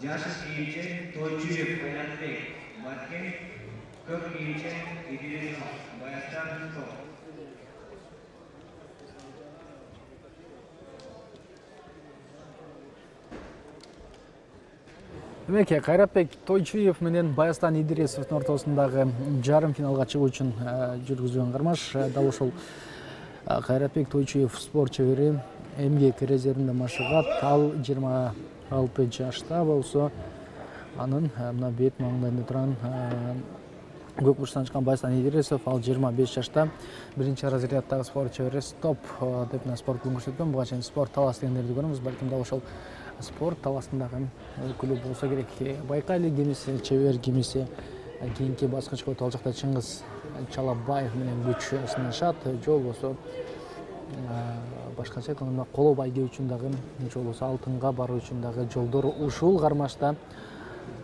Жашы кийимчен Тойчуев Кайратбек Баткен, көк кийимчен Идирисов Баястан топ. Демек, Кайратбек Тойчуев менен Баястан Идирисовдун ортосундагы жарым финалга чыгуу үчүн жүргүзгөн кармаш. Дал ошол Кайратбек Тойчуев спорт чебери, эмгек резервинде машыгат. Ал 26 жашта болсо, анын мына бет маңдайында турган көк бурчтан чыккан Баястан Идирисов, ал 25 жашта. Биринчи разряддагы спорт чебери Стоп деп спорт клубун көрсөткөн. Буга чейин спорт талас дегендерди көрөбүз. Балким дал ошол спорт таласындагы клуб болсо керек. Байкали кимиси, чебер кимиси кийинки баскычка өтүп ал жакта Чыңгыз Чалабаев менен күч сынашат. Жол болсо башкача айтканда коло байге үчүн дагы, жол болсо алтынга баруу үчүн дагы жолдор ушул кармашта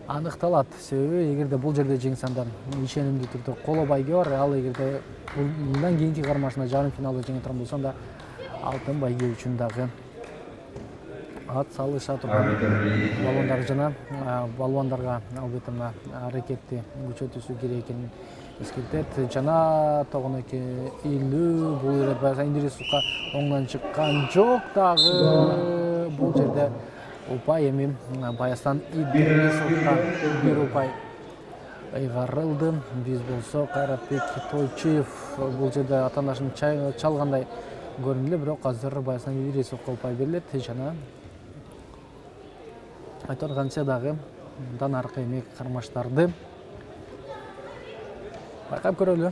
аныкталат. Себеби эгерде бул жерде жеңсе анда ишенимдүү түрдө коло байге бар. Ал эгерде мындан кийинки кармашында жарым финалда жеңе турган болсо, анда алтын байге үчүн дагы ат салыша турган балуандар жана балуандарга албетте мына аракетти күчөтүүсү керек экенин эскертет. Жана тогонеки илүү бул ирет Баястан Идирисовго оңдон чыккан жок дагы. Бул жерде упай эми Баястан Идирисовго бир упай ыйгарылды. Биз болсо Кайратбек Тойчуев бул жерде атаандашын чалгандай көрүндү, бирок азыр Баястан Идирисовго упай берилет. Жана айтканча дагы мындан аркы эмек кармаштарды байкап көрөлү.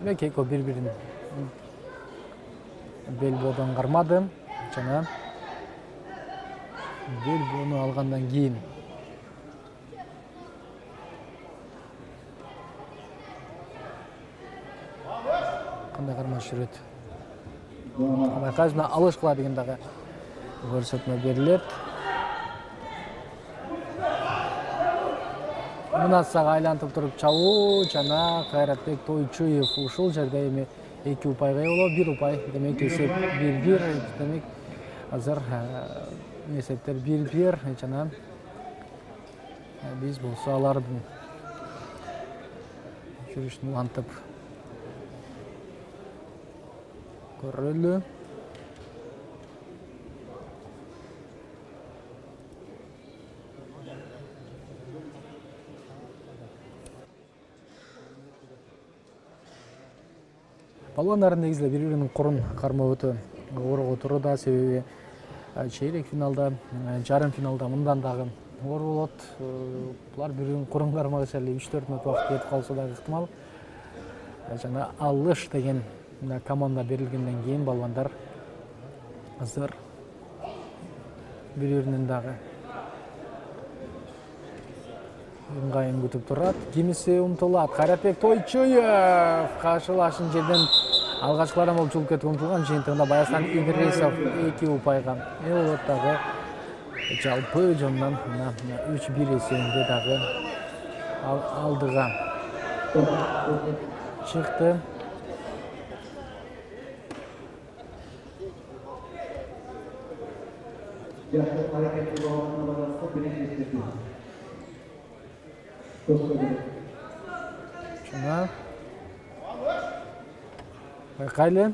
Демек, экөө бири-бирин белбоодон кармады жана белбоону алгандан кийин кандай кармаш жүрөт? Байкайсыздар, алыш кыла деген дагы көрсөтмө берилет. Мынасага айлантып туруп чабуу жана Кайратбек Тойчуев ушул жерде эми 2 упайга ээ болот, 1 упай. Демек, эсеп 1-1. Демек, азыр эсептер 1-1 жана биз болсо алардын жүрүшүн улантып көрөлү. Балуандар негизинде бири-биринин корун кармоо өтө оор отуруда. Себеби чейрек финалда, жарым финалда мындан дагы оор болот. Булар бири-биринин корун кармагыча эле 3-4 мүнөт убакыт кетип калса дагы ыктымал. Жана алыш деген команда берилгенден кийин балуандар азыр бири-биринин дагы ыңгайын күтүп турат. Кимиси умтулат. Кайратбек Тойчуев каршылашын жерден алгачкылардан болуп чулуп кетип умтулган. Жыйынтыгында Баястан Идирисов 2 упайга ээ болот дагы. Жалпы жонунан 3-1 эсебинде дагы алдыга чыкты. Жана байкайлы.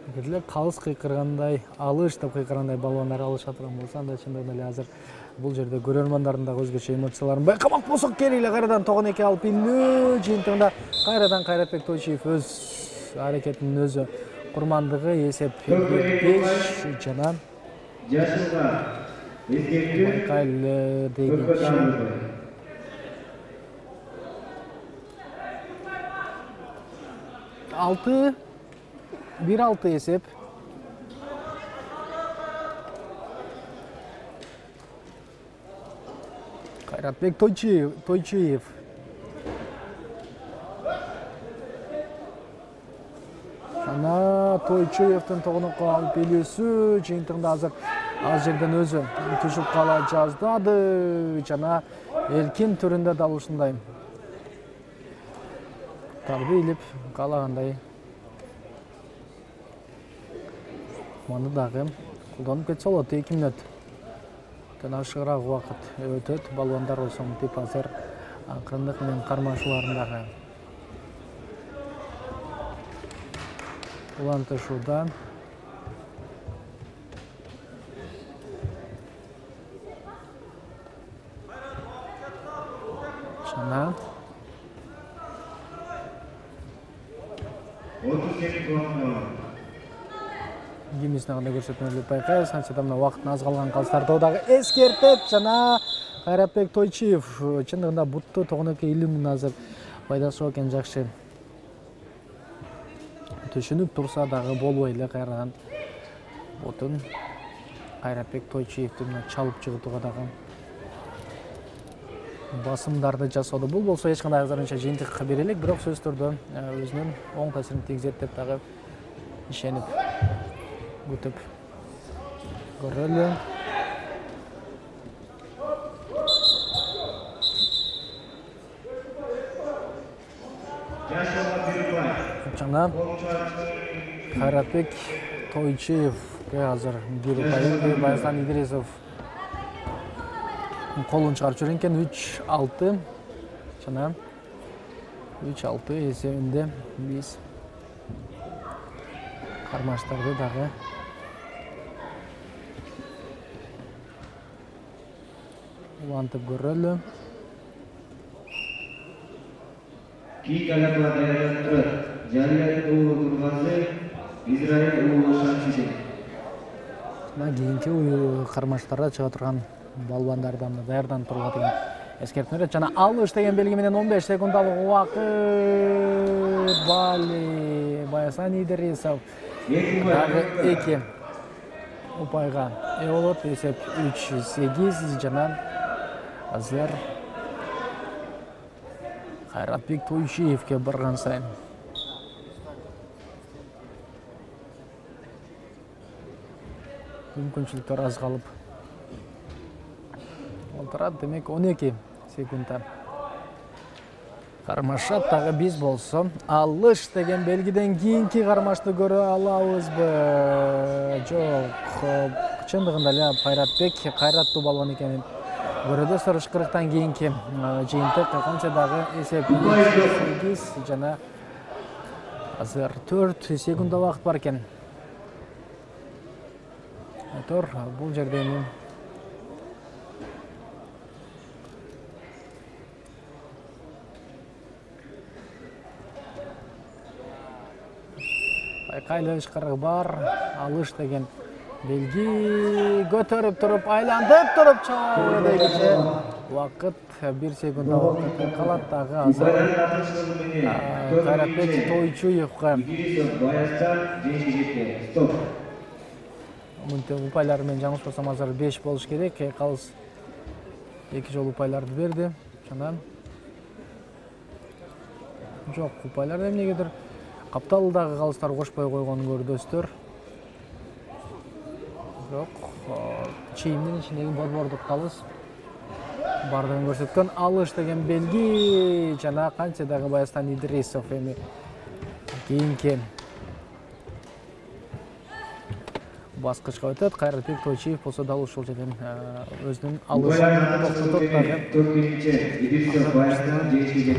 Эгерде калыс кыйкыргандай, алыш деп кыйкыргандай балуандар алыша турган болсо, анда чындыгында эле азыр бул жерде көрөрмандардын дагы өзгөчө эмоцияларын байкамак болсок керек эле. Кайрадан тогонеки алып индүү. Жыйынтыгында кайрадан Кайратбек Тойчуев өз аракетинин өзү курмандыгы. Эсеп 5 жана байкайлы дегенче 1-6 эсеп. Кайратбек Тойчуев. Жана Тойчуевдин тогонокко алып келүүсү жыйынтыгында азыр ал жерден өзү түшүп кала жаздады. Жана эркин түрүндө дал ушундай тарды илип калагандай ыкманы дагы колдонуп кетсе болот. 2 мүнөттөн ашыгыраак убакыт өтөт. Балбандар болсо мынтип азыр акырындык менен кармашууларындагы улантышууда. Жана 32 километр. Гимнистин кандай көрсөтмөлүп байкайбыз. Анчада мына убакыттын аз калган калыстарды дагы эскертет жана Кайратбек Тойчиев чындыгында бутту тогонокко илүүнүн азыр пайдасы бар экен. Жакшы түшүнүп турса дагы болбой эле кайрадан бутун Кайратбек Тойчиевди мына чалып чыгытууга дагы басымдарды жасоодо. Бул болсо эч кандай азырынча жыйынтык бере элек, бирок сөзсүз түрдө өзүнүн оң таасирин тийгизет деп дагы ишенип күтүп көрөлү. Жана Кайратбек Тойчиевге азыр бир упай Баясан Идрисов колун чыгарып жүргөн экен. 3-6 жана 3-6 эсебинде биз кармаштарды дагы улантып көрөлү. Кийинки алакалар даярданып турат. Жалият уулу Тургазы, Израиль уулу Шамшидин. Мына кийинки кармаштарда чыга турган балбандардан даярданып турууга деген эскертме берет. Жана алыш деген белги менен 15 секундалык убакыт. Бали Баясан Идрисов дагы 2 упайга ээ болот. Эсеп 3-8 жана азыр Кайратбек Тойчиевге барган сайын мүмкүнчүлүктөр аз калып отурат. Демек 12 секундда кармашат. Дагы биз болсо алыш деген белгиден кийинки кармашты көрө алабызбы? Жок. Чындыгында эле Кайратбек кайраттуу балбан экенин көрөбүз. 40-40тан кийинки жыйынтык канча дагы эсеп 8 жана азыр 4 секунд убакыт бар экен. Бул жерде эми байкайлы ышкырык бар. Алыш деген белги көтөрүп туруп айлантып туруп чабуу дегиче убакыт 1 секунд убакыт калат. Дагы азыр Кайратбек Тойчиевге мынтип упайлар менен жаңылышпасам азыр 5 болуш керек. Калыс 2 жолу упайларды берди. Жана жок, упайлар эмнегедир капталдагы калыстар кошпой койгонун көрдөсүздөр. Жок, чийимдин ичиндеги борбордук калыс бардыгын көрсөткөн. Алыш деген белги жана канча дагы Баястан Идрисов эми кийинки баскычка өтөт. Кайратбек Тойчиев болсо дал ушул жерден өзүнүн алышын токтотот. Идрисов Баястан жетти.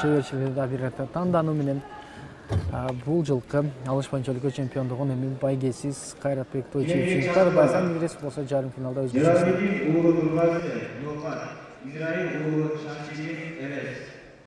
Чеберчиликти да бир тандануу менен бул жылкы алыш боюнча өлкө чемпиондугун эми байгесиз Кайратбек Тойчиев чыгышты. Баясан Идрисов болсо жарым финалда өзгөчө. Израиль уулу Шамшидин эмес.